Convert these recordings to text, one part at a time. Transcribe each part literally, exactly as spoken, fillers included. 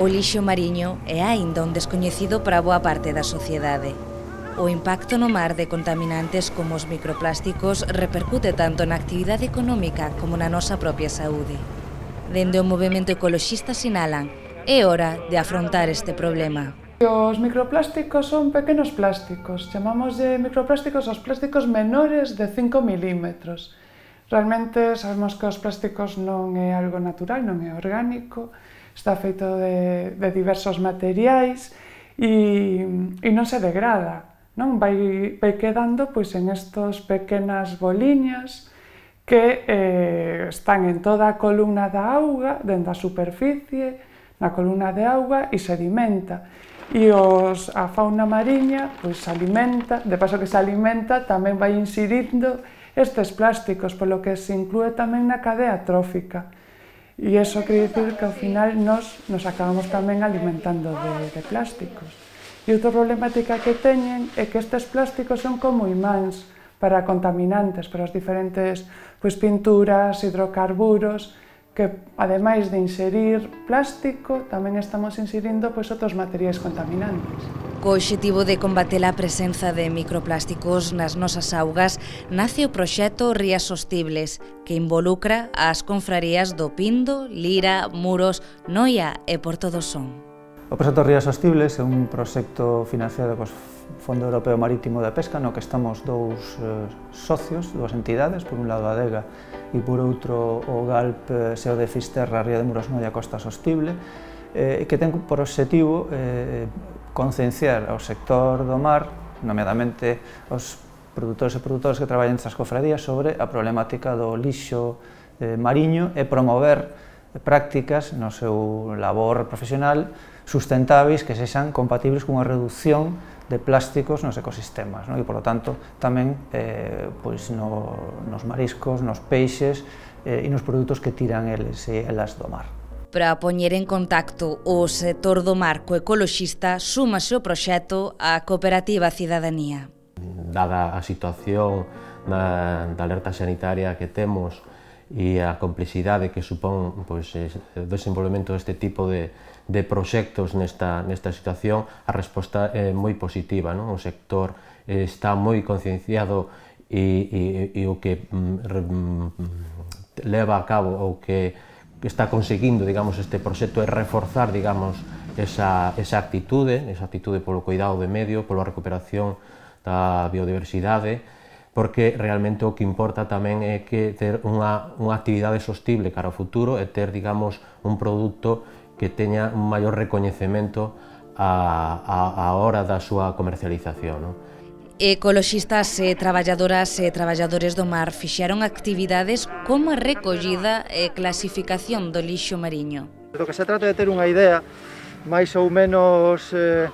O lixo mariño é aínda un descoñecido para boa parte da sociedade. O impacto no mar de contaminantes como os microplásticos repercute tanto na actividade económica como na nosa propia saúde. Dende o movemento ecoloxista sinalan, é hora de afrontar este problema. Os microplásticos son pequenos plásticos, chamámoslle microplásticos aos plásticos menores de cinco milímetros. Realmente sabemos que os plásticos non é algo natural, non é orgánico, está feito de, de diversos materiais e, e non se degrada, non? Vai, vai quedando pois, en estas pequenas boliñas que eh, están en toda a columna da auga, dentro da superficie, na columna de auga e sedimenta. E os, a fauna mariña pois, se alimenta, de paso que se alimenta, tamén vai insirindo estes plásticos, polo que se inclúe tamén na cadea trófica. E iso quere dicir que ao final nos, nos acabamos tamén alimentando de, de plásticos. E outra problemática que teñen é que estes plásticos son como imáns para contaminantes, para as diferentes pois, pinturas, hidrocarburos, que ademais de inserir plástico, tamén estamos inserindo pois, outros materiais contaminantes. Co obxectivo de combater a presenza de microplásticos nas nosas augas, nace o proxecto Rías Sostibles, que involucra as confrarías do Pindo, Lira, Muros, Noia e Porto do Son. O proxecto Rías Sostibles é un proxecto financiado co Fondo Europeo Marítimo de Pesca, no que estamos dous eh, socios, dúas entidades, por un lado a Adega e por outro o GALP Seo de Fisterra, Ría de Muros, Noia, Costa Sostible, eh, que ten por obxectivo eh, concienciar ao sector do mar, nomeadamente aos produtores e produtoras que traballan nestas cofradías sobre a problemática do lixo eh, mariño e promover prácticas no seu labor profesional sustentáveis que sexan compatibles cunha reducción de plásticos nos ecosistemas, non? E, polo tanto, tamén eh, pois no, nos mariscos, nos peixes eh, e nos produtos que tiran eles e elas do mar. Para poñer en contacto o sector do mar co ecoloxista, súmase o proxecto á Cooperativa Cidadanía. Dada a situación da, da alerta sanitaria que temos e a complexidade que supón pois, o desenvolvemento deste tipo de, de proxectos nesta, nesta situación, a resposta é moi positiva, non? O sector está moi concienciado e, e, e o que mm, leva a cabo o que que está conseguindo, digamos, este proxecto é reforzar, digamos, esa, esa actitude, esa actitude polo cuidado do medio, pola recuperación da biodiversidade, porque realmente o que importa tamén é que ter unha, unha actividade sostible cara ao futuro e ter, digamos, un produto que teña un maior recoñecemento a, a, a hora da súa comercialización, non? Ecoloxistas e traballadoras e traballadores do mar fixeron actividades como a recollida e clasificación do lixo mariño. Do que se trata de ter unha idea máis ou menos eh,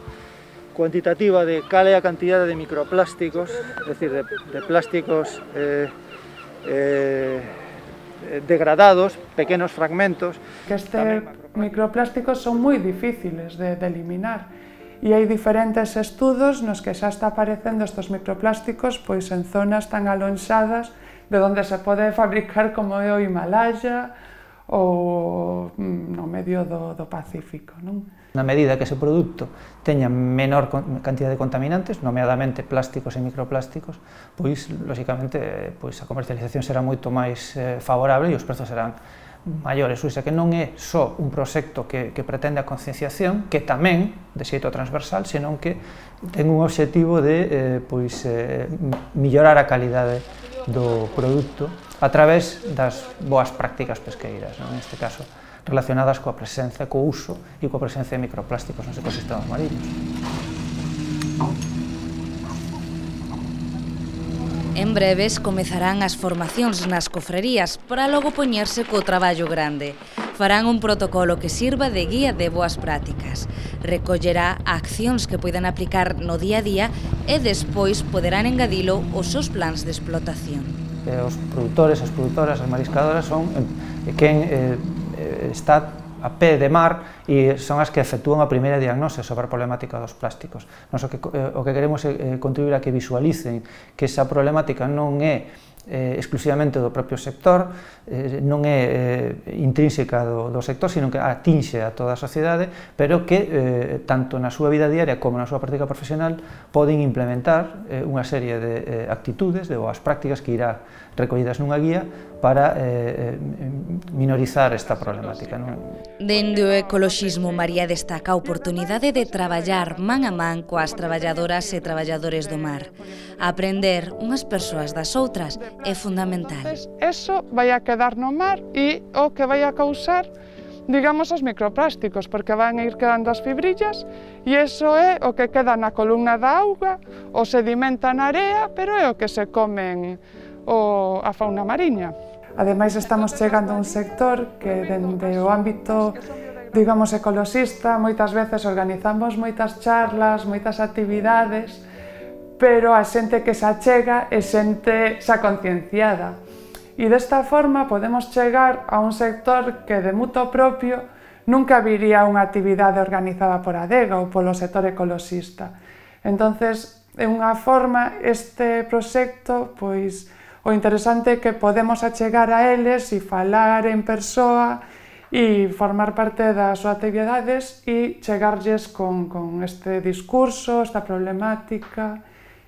cuantitativa de cal é a cantidade de microplásticos, é dicir, de, de plásticos eh, eh, degradados, pequenos fragmentos. Que estes microplásticos son moi difíciles de, de eliminar. E hai diferentes estudos nos que xa está aparecendo estes microplásticos pois en zonas tan alonxadas de onde se pode fabricar como é o Himalaya ou no medio do, do Pacífico, non? Na medida que ese produto teña menor cantidad de contaminantes, nomeadamente plásticos e microplásticos, pois, lóxicamente, pois, a comercialización será moito máis eh, favorable e os prezos serán maiores, ou seja, que non é só un proxecto que, que pretende a concienciación, que tamén, de xeito transversal, senón que ten un obxectivo de eh, pois, eh, mellorar a calidade do produto a través das boas prácticas pesqueiras, non? Neste caso, relacionadas coa presenza, co uso e coa presencia de microplásticos nos ecosistemas mariños. En breves comezarán as formacións nas cofrerías para logo poñerse co traballo grande. Farán un protocolo que sirva de guía de boas prácticas. Recollerá accións que poidan aplicar no día a día e despois poderán engadilo aos seus plans de explotación. Os produtores, as produtoras, as mariscadoras son quen eh, está a pé de mar e son as que efectúan a primeira diagnose sobre a problemática dos plásticos. Nos o que, o que queremos é contribuir a que visualicen que esa problemática non é Eh, exclusivamente do propio sector, eh, non é eh, intrínseca do, do sector, sino que atinxe a toda a sociedade, pero que eh, tanto na súa vida diaria como na súa práctica profesional poden implementar eh, unha serie de eh, actitudes, de boas prácticas que irá recollidas nunha guía para eh, minorizar esta problemática. Non? Dende o ecoloxismo, María destaca a oportunidade de traballar man a man coas traballadoras e traballadores do mar. Aprender unhas persoas das outras é fundamental. Eso vai a quedar no mar e o que vai a causar, digamos, os microplásticos, porque van a ir quedando as fibrillas e iso é o que queda na columna da auga, o sedimenta na area, pero é o que se comen o, a fauna mariña. Ademais, estamos chegando a un sector que, dende o ámbito, digamos, ecoloxista, moitas veces organizamos moitas charlas, moitas actividades, pero a xente que se achega é xente xa concienciada. E desta forma podemos chegar a un sector que de mutuo propio nunca viría unha actividade organizada por Adega ou polo sector ecoloxista. Entonces, é unha forma, este proxecto, pois, o interesante é que podemos achegar a eles e falar en persoa e formar parte das súas actividades e chegarlles con, con este discurso, esta problemática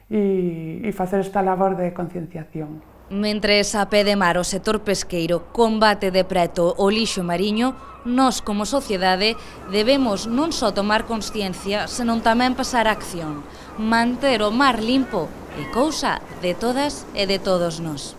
e, e facer esta labor de concienciación. Mentres a pé de mar o sector pesqueiro combate de preto o lixo mariño, nós como sociedade debemos non só tomar consciencia, senón tamén pasar a acción. Manter o mar limpo é cousa de todas e de todos nós.